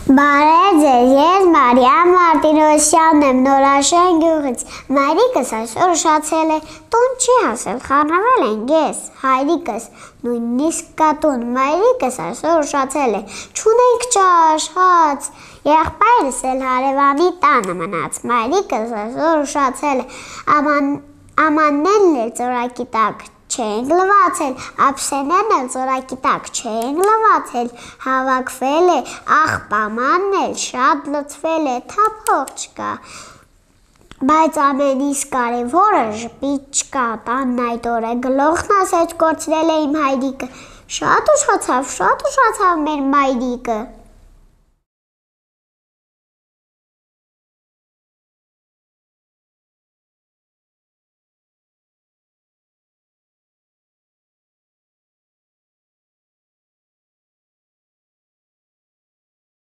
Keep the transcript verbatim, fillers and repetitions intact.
Բարև ձեզ, ես Մարիամ Մարտիրոսյանն եմ Նորաշեն գյուղից, մայրիկս այսօր ուշացել է, տուն չի հասել, խառնվել ենք ես, հայրիկս, նույնիսկ կատուն, մայրիկս այսօր ուշացել է, չունենք ճաշ, հաց, եղբայրս էլ հարևանի տանը մնաց, մայրիկս այսօր ուշացել է, ամաններն էլ ծորակի տակ չենք լվացել, ափսեներն էլ ծորակի տակ չենք լվացել, հավաքվել է, աղբամանն էլ շատ լցվել է, թափող չկա, բայց ամենից կարևորը ժպիտ չկա, տանն այդ օրը գլուխն ասեց կորցրել է իմ հայրիկը, շատ ուշացավ, շատ ուշացավ մեր մայրիկը։